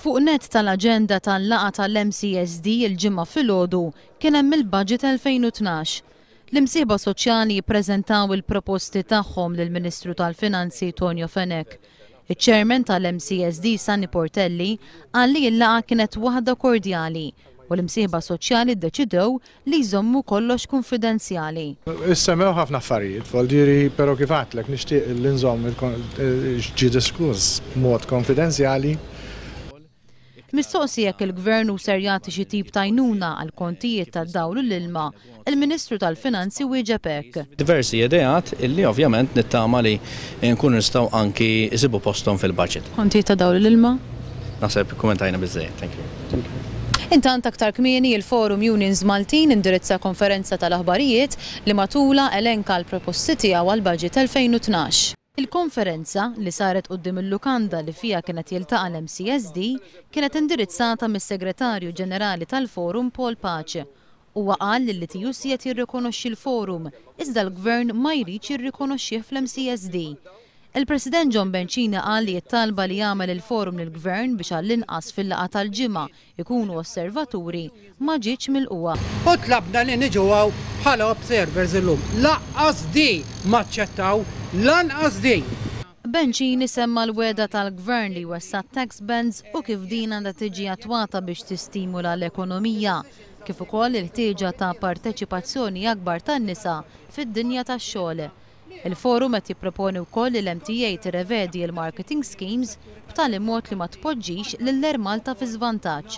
Fuq nett tal-aġenda tal-laqgħa tal-MCSD il-Ġimgħa filgħodu kien hemm il-Budget 2012. L-imsieħba soċjali ppreżentaw il-proposti tagħhom lill-Ministru tal-Finanzi Tonio Fenech. Iċ-Chairman tal-MCSD Sunny Portelli qal li l-laqgħa kienet waħda kordjali u l-imsieħba soċjali ddeċidew li jżommu kollox kunfidenzjali. Issemmew ħafna affarijiet, voldiri, però kif għedtlek nixtieq li nżomm x'ġie diskuss b'mod konfidenzjali. Mistoqsi jekk il-Gvern hu ser jagħti xi tip ta' għajnuna għal kontijiet tad-dawl u l-ilma, il-Ministru tal-Finanzi wieġeb hekk. Diversi ideat illi ovvjament nittama li nkunu nistgħu anki jsibu posthom fil-budget. Kontijiet ta' dawl u l-ilma? Naħseb ikkummentajna biżżejjed. Thank you. Intant aktar kmieni il-Forum Unions Maltin indirizza konferenza tal-aħbarijiet li matulha elenka l-proposti tiegħu għall-Budget 2012. Il-konferenza, li saret quddiem il-lukanda li fiha kien qed jiltaqa' l-MCSD, kienet indirizzata mis-Segretarju Ġenerali tal-Forum Paul Pace. Huwa qal li l-TUC qed jirrikonoxxi l-Forum, iżda l-Gvern ma jridx jirrikonoxxih fl-MCSD. Il-President John Bencini qal li t-talba li għamel il-Forum lill-Gvern biex għall-inqas fil-laqgħa tal-Ġimgħa ikunu osservaturi ma ġietx milqugħa. U tlabna li niġu hawn bħala observers illum. Lanqas din m'aċċettaw, lanqas din. Bencini semma l-wegħda tal-Gvern li jwessa' tax bands u kif din għandha tiġi attwata biex tistimula l-ekonomija, kif ukoll il-ħtieġa ta' parteċipazzjoni akbar tan-nisa fid-dinja tax-xogħol. Il-forum qed jipproponi wkoll li l-MTA tirrevedi l-marketing schemes b'tali mod li ma tpoġġix lill-Air Malta fi żvantaġġ.